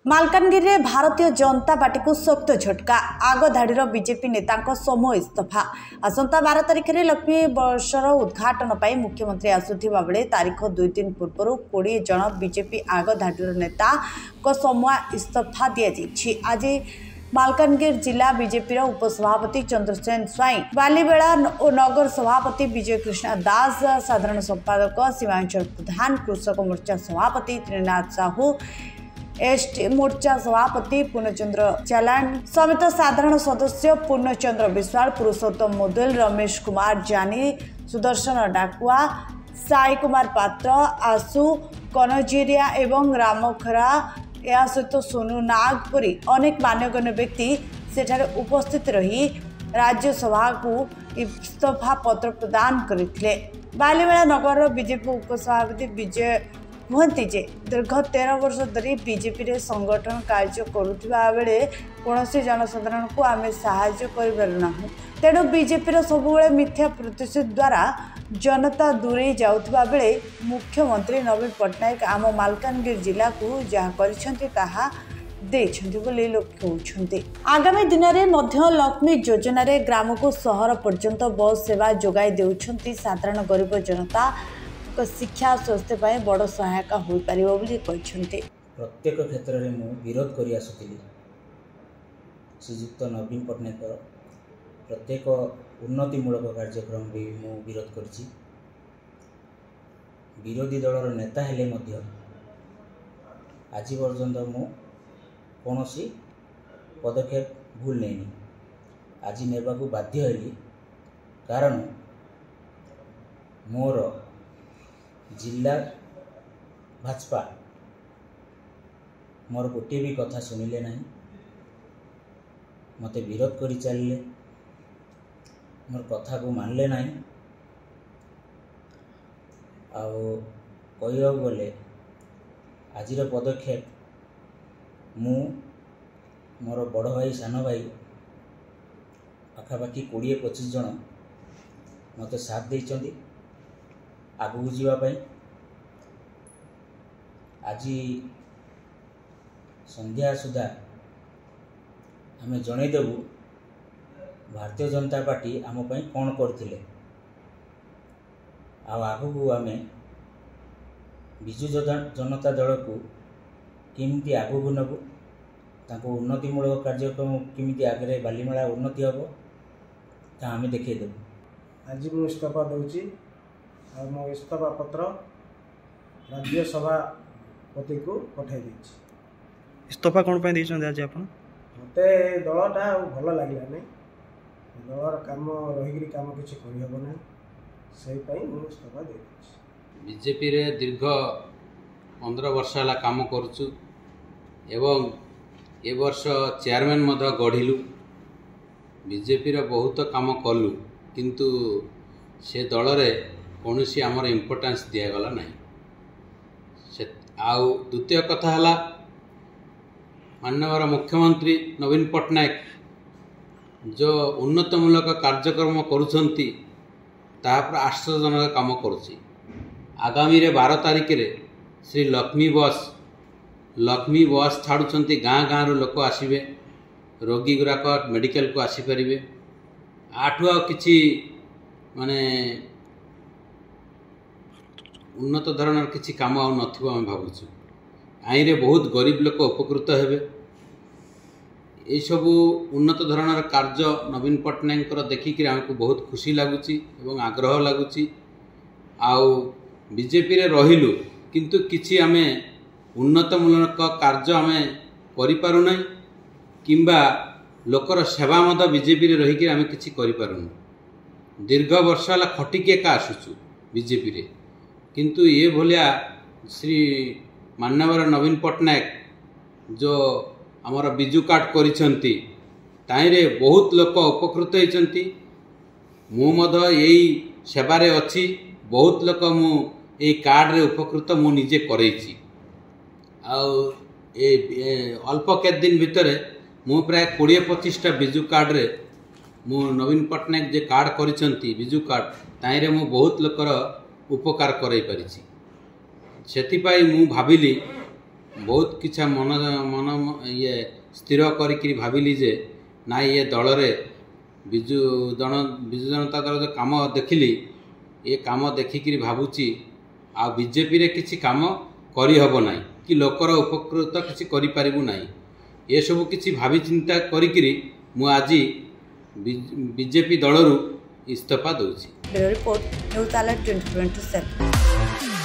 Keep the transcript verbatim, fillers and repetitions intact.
ମାଲକାନଗିରିରେ ଭାରତୀୟ ଜନତା ପାର୍ଟିକୁ ଶକ୍ତ ଝଟକା। ଆଗଧାଡ଼ିର ବିଜେପି ନେତାଙ୍କ ସମୂହ ଇସ୍ତଫା। ଆସନ୍ତା ବାର ତାରିଖରେ ଲକ୍ଷ୍ମୀ ବସର ଉଦ୍ଘାଟନ ପାଇଁ ମୁଖ୍ୟମନ୍ତ୍ରୀ ଆସୁଥିବା ବେଳେ ତାରିଖ ଦୁଇ ଦିନ ପୂର୍ବରୁ କୋଡ଼ିଏ ଜଣ ବିଜେପି ଆଗଧାଡ଼ିର ନେତାଙ୍କ ସମୂହ ଇସ୍ତଫା ଦିଆଯାଇଛି। ଆଜି ମାଲକାନଗିରି ଜିଲ୍ଲା ବିଜେପିର ଉପସଭାପତି ଚନ୍ଦ୍ରସେନ ସ୍ୱାଇଁ, ବାଲିମେଳା ଓ ନଗର ସଭାପତି ବିଜୟ କୃଷ୍ଣ ଦାସ, ସାଧାରଣ ସମ୍ପାଦକ ସୀମାଞ୍ଚଳ ପ୍ରଧାନ, କୃଷକ ମୋର୍ଚ୍ଚା ସଭାପତି ତ୍ରିନାଥ ସାହୁ, ଏସ୍ଟି ମୋର୍ଚ୍ଚା ସଭାପତି ପୂର୍ଣ୍ଣଚନ୍ଦ୍ର ଚାଲାଣ ସମେତ ସାଧାରଣ ସଦସ୍ୟ ପୂର୍ଣ୍ଣଚନ୍ଦ୍ର ବିଶ୍ୱାଳ, ପୁରୁଷୋତ୍ତମ ମୁଦୁଲ, ରମେଶ କୁମାର ଜାନି, ସୁଦର୍ଶନ ଡାକୁଆ, ସାଇ କୁମାର ପାତ୍ର, ଆଶୁ କନଜିରିଆ ଏବଂ ରାମଖରା, ଏହା ସହିତ ସୋନୁ ନାଗ ପରି ଅନେକ ମାନ୍ୟଗଣ୍ୟ ବ୍ୟକ୍ତି ସେଠାରେ ଉପସ୍ଥିତ ରହି ରାଜ୍ୟସଭାକୁ ଇସ୍ତଫା ପତ୍ର ପ୍ରଦାନ କରିଥିଲେ। ବାଲିମେଳା ନଗରର ବିଜେପି ଉପସଭାପତି ବିଜୟ କୁହନ୍ତି ଯେ ଦୀର୍ଘ ତେର ବର୍ଷ ଧରି ବିଜେପିରେ ସଂଗଠନ କାର୍ଯ୍ୟ କରୁଥିବା ବେଳେ କୌଣସି ଜନସାଧାରଣଙ୍କୁ ଆମେ ସାହାଯ୍ୟ କରିପାରୁନାହୁଁ। ତେଣୁ ବିଜେପିର ସବୁବେଳେ ମିଥ୍ୟା ପ୍ରତିଶ୍ରୁତି ଦ୍ୱାରା ଜନତା ଦୂରେଇ ଯାଉଥିବା ବେଳେ ମୁଖ୍ୟମନ୍ତ୍ରୀ ନବୀନ ପଟ୍ଟନାୟକ ଆମ ମାଲକାନଗିରି ଜିଲ୍ଲାକୁ ଯାହା କରିଛନ୍ତି ତାହା ଦେଇଛନ୍ତି ବୋଲି ଲୋକେ କହୁଛନ୍ତି। ଆଗାମୀ ଦିନରେ ମଧ୍ୟ ଲକ୍ଷ୍ମୀ ଯୋଜନାରେ ଗ୍ରାମକୁ ସହର ପର୍ଯ୍ୟନ୍ତ ବସ୍ ସେବା ଯୋଗାଇ ଦେଉଛନ୍ତି। ସାଧାରଣ ଗରିବ ଜନତା ଶିକ୍ଷା ସ୍ୱାସ୍ଥ୍ୟ ପାଇଁ ବଡ଼ ସହାୟକ ହୋଇପାରିବ ବୋଲି କହିଛନ୍ତି। ପ୍ରତ୍ୟେକ କ୍ଷେତ୍ରରେ ମୁଁ ବିରୋଧ କରି ଆସୁଥିଲି ଶ୍ରୀଯୁକ୍ତ ନବୀନ ପଟ୍ଟନାୟକ ପ୍ରତ୍ୟେକ ଉନ୍ନତିମୂଳକ କାର୍ଯ୍ୟକ୍ରମ ବି ମୁଁ ବିରୋଧ କରିଛି। ବିରୋଧୀ ଦଳର ନେତା ହେଲେ ମଧ୍ୟ ଆଜି ପର୍ଯ୍ୟନ୍ତ ମୁଁ କୌଣସି ପଦକ୍ଷେପ ଭୁଲ ନେଇନି। ଆଜି ନେବାକୁ ବାଧ୍ୟ ହେଲି, କାରଣ ମୋର ଜିଲ୍ଲା ଭାଜପା ମୋର ଗୋଟିଏ ବି କଥା ଶୁଣିଲେ ନାହିଁ, ମୋତେ ବିରୋଧ କରି ଚାଲିଲେ, ମୋର କଥାକୁ ମାନିଲେ ନାହିଁ। ଆଉ କହିବାକୁ ଗଲେ ଆଜିର ପଦକ୍ଷେପ ମୁଁ ମୋର ବଡ଼ ଭାଇ ସାନ ଭାଇ ପାଖାପାଖି କୋଡ଼ିଏ ପଚିଶ ଜଣ ମୋତେ ସାଥ ଦେଇଛନ୍ତି ଆଗକୁ ଯିବା ପାଇଁ। ଆଜି ସନ୍ଧ୍ୟା ସୁଦ୍ଧା ଆମେ ଜଣାଇଦେବୁ ଭାରତୀୟ ଜନତା ପାର୍ଟି ଆମ ପାଇଁ କ'ଣ କରିଥିଲେ, ଆଉ ଆଗକୁ ଆମେ ବିଜୁ ଜନତା ଦଳକୁ କେମିତି ଆଗକୁ ନେବୁ, ତାଙ୍କ ଉନ୍ନତିମୂଳକ କାର୍ଯ୍ୟକ୍ରମ କେମିତି ଆଗରେ ବାଲିମେଳା ଉନ୍ନତି ହେବ ତାହା ଆମେ ଦେଖାଇଦେବୁ। ଆଜି ମୁଁ ଇସ୍ତଫା ଦେଉଛି ଆଉ ମୋ ଇସ୍ତଫା ପତ୍ର ରାଜ୍ୟ ସଭାପତିଙ୍କୁ ପଠାଇ ଦେଇଛି। ଇସ୍ତଫା କ'ଣ ପାଇଁ ଦେଇଛନ୍ତି ଆଜି ଆପଣ? ମୋତେ ଏ ଦଳଟା ଆଉ ଭଲ ଲାଗିଲାନି, ଦଳର କାମ ରହିକିରି କାମ କିଛି କରିହେବ ନାହିଁ, ସେଇପାଇଁ ମୁଁ ଇସ୍ତଫା ଦେଇଦେଇଛି। ବିଜେପିରେ ଦୀର୍ଘ ପନ୍ଦର ବର୍ଷ ହେଲା କାମ କରୁଛୁ ଏବଂ ଏ ବର୍ଷ ଚେୟାରମ୍ୟାନ୍ ମଧ୍ୟ ଗଢ଼ିଲୁ। ବିଜେପିର ବହୁତ କାମ କଲୁ, କିନ୍ତୁ ସେ ଦଳରେ କୌଣସି ଆମର ଇମ୍ପୋର୍ଟାନ୍ସ ଦିଆଗଲା ନାହିଁ। ସେ ଆଉ ଦ୍ୱିତୀୟ କଥା ହେଲା ମାନ୍ୟବର ମୁଖ୍ୟମନ୍ତ୍ରୀ ନବୀନ ପଟ୍ଟନାୟକ ଯେଉଁ ଉନ୍ନତମୂଳକ କାର୍ଯ୍ୟକ୍ରମ କରୁଛନ୍ତି ତାହା ପୁରା ଆଶ୍ଚର୍ଯ୍ୟଜନକ କାମ କରୁଛି। ଆଗାମୀରେ ବାର ତାରିଖରେ ଶ୍ରୀ ଲକ୍ଷ୍ମୀ ବସ୍ ଲକ୍ଷ୍ମୀ ବସ୍ ଛାଡ଼ୁଛନ୍ତି, ଗାଁ ଗାଁରୁ ଲୋକ ଆସିବେ, ରୋଗୀ ଗୁଡ଼ାକ ମେଡ଼ିକାଲକୁ ଆସିପାରିବେ। ଆଠୁ ଆଉ କିଛି ମାନେ ଉନ୍ନତ ଧରଣର କିଛି କାମ ଆଉ ନଥିବ ଆମେ ଭାବୁଛୁ। ଆଇନରେ ବହୁତ ଗରିବ ଲୋକ ଉପକୃତ ହେବେ। ଏଇସବୁ ଉନ୍ନତ ଧରଣର କାର୍ଯ୍ୟ ନବୀନ ପଟ୍ଟନାୟକଙ୍କର ଦେଖିକିରି ଆମକୁ ବହୁତ ଖୁସି ଲାଗୁଛି ଏବଂ ଆଗ୍ରହ ଲାଗୁଛି। ଆଉ ବିଜେପିରେ ରହିଲୁ କିନ୍ତୁ କିଛି ଆମେ ଉନ୍ନତମୂଳକ କାର୍ଯ୍ୟ ଆମେ କରିପାରୁନାହିଁ, କିମ୍ବା ଲୋକର ସେବା ମଧ୍ୟ ବିଜେପିରେ ରହିକି ଆମେ କିଛି କରିପାରୁନୁ। ଦୀର୍ଘ ବର୍ଷ ହେଲା ଖଟିକି ଏକା ଆସୁଛୁ ବିଜେପିରେ, କିନ୍ତୁ ଏ ଭଳିଆ ଶ୍ରୀ ମାନ୍ୟବର ନବୀନ ପଟ୍ଟନାୟକ ଯେଉଁ ଆମର ବିଜୁ କାର୍ଡ଼ କରିଛନ୍ତି ତାହିଁରେ ବହୁତ ଲୋକ ଉପକୃତ ହେଇଛନ୍ତି। ମୁଁ ମଧ୍ୟ ଏଇ ସେବାରେ ଅଛି, ବହୁତ ଲୋକ ମୁଁ ଏଇ କାର୍ଡ଼ରେ ଉପକୃତ ମୁଁ ନିଜେ କରେଇଛି। ଆଉ ଏ ଅଳ୍ପ କେତେ ଦିନ ଭିତରେ ମୁଁ ପ୍ରାୟ କୋଡ଼ିଏ ପଚିଶଟା ବିଜୁ କାର୍ଡ଼ରେ ମୁଁ ନବୀନ ପଟ୍ଟନାୟକ ଯେ କାର୍ଡ଼ କରିଛନ୍ତି ବିଜୁ କାର୍ଡ଼, ତାହିଁରେ ମୁଁ ବହୁତ ଲୋକର ଉପକାର କରାଇ ପାରିଛି। ସେଥିପାଇଁ ମୁଁ ଭାବିଲି ବହୁତ କିଛି ମନ ମନ ଇଏ ସ୍ଥିର କରିକିରି ଭାବିଲି ଯେ ନାଇଁ, ଏ ଦଳରେ ବିଜୁ ଜନ ବିଜୁ ଜନତା ଦଳ ଯେଉଁ କାମ ଦେଖିଲି, ଏ କାମ ଦେଖିକିରି ଭାବୁଛି ଆଉ ବିଜେପିରେ କିଛି କାମ କରିହେବ ନାହିଁ କି ଲୋକର ଉପକୃତ କିଛି କରିପାରିବୁ ନାହିଁ। ଏସବୁ କିଛି ଭାବି ଚିନ୍ତା କରିକିରି ମୁଁ ଆଜି ବିଜେପି ଦଳରୁ ଇସ୍ତଫା ଦେଉଛି। Bureau report, news alert twenty twenty seven.